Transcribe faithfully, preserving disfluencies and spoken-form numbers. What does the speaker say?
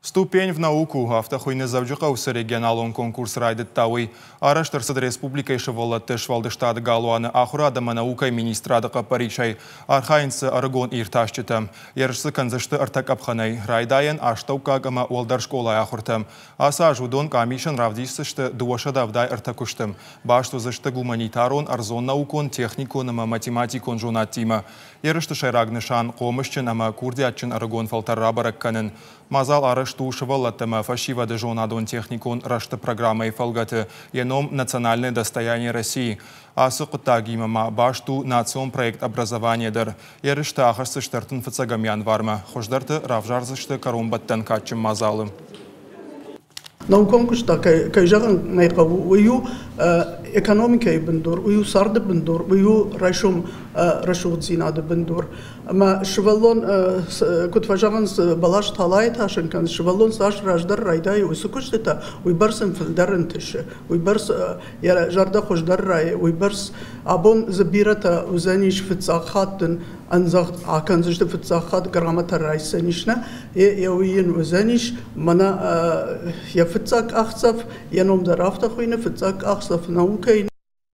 «Ступень в науку» афтӕ хуыйны, Дзӕуджыхъӕуы цы регионалон конкурс райдыдта, уый. Арӕзт ӕрцыд республикӕйы сывӕллӕтты сфӕлдыстады галуаны ахуырад ӕмӕ наукӕйы министрады хъӕппӕрисӕй. Архайынц дзы ӕрыгон иртасджытӕ. Ерыс дзы кӕндзысты ӕртӕ къӕпхӕнӕй: райдайӕн, астӕуккаг ӕмӕ уӕлдӕр скъолайы ахуыртӕ. Ацы аз уыдон къамисӕн равдисдзысты дыууӕсӕдӕ ӕвдай ӕртӕ куысты. Баст уыдзысты гуманитарон, ӕрдзон наукон, техникон ӕмӕ математикон зонӕдтимӕ. Ерысты сӕйраг нысан – хъомысджын ӕмӕ курдиатджын ӕрыгон фӕлтӕр рабӕрӕг кӕнын. Мадзал арӕзт у сывӕллӕттӕ ӕмӕ фӕсивӕды зонадон-техникон рӕзты программӕйы фӕлгӕты. Йӕ ном «Национальное достояние России». Ацы хъуыддагимӕ ма баст у национ проект «Образование» дӕр. Ерыстӕ ахӕсдзысты ӕртын фыццӕгӕм январмӕ. Хуыздӕрты равзардзысты кӕронбӕттӕн кадджын мадзалы. Наукон куыст та, кӕй зӕгъын ӕй хъӕуы, уый у экономикӕйы бындур, уый у царды бындур, уый у райсом рӕсугъддзинады бындур. Ӕмӕ сывӕллон, куыд фӕзӕгъынц, бӕлас талайы тасын кӕны, сывӕллон цас раздӕр райдайы уыцы куыстытӕ, уый бӕрц ын фылдӕр ӕнтысы, уый бӕрц йӕ зӕрдӕ хуыздӕр райы, уый бӕрц абон дзы бирӕтӕ уыдзӕнис фыццаг хатт ын ӕндзӕгъд акӕндзысты, фыццаг хатт грамотӕ райсдзӕнис, нӕ, йӕ уый йын уыдзӕнис мӕнӕ йӕ фыццаг къахдзӕф, йӕ ном дӕр афтӕ хуыйны, фыццаг къахдзӕф наукӕйы.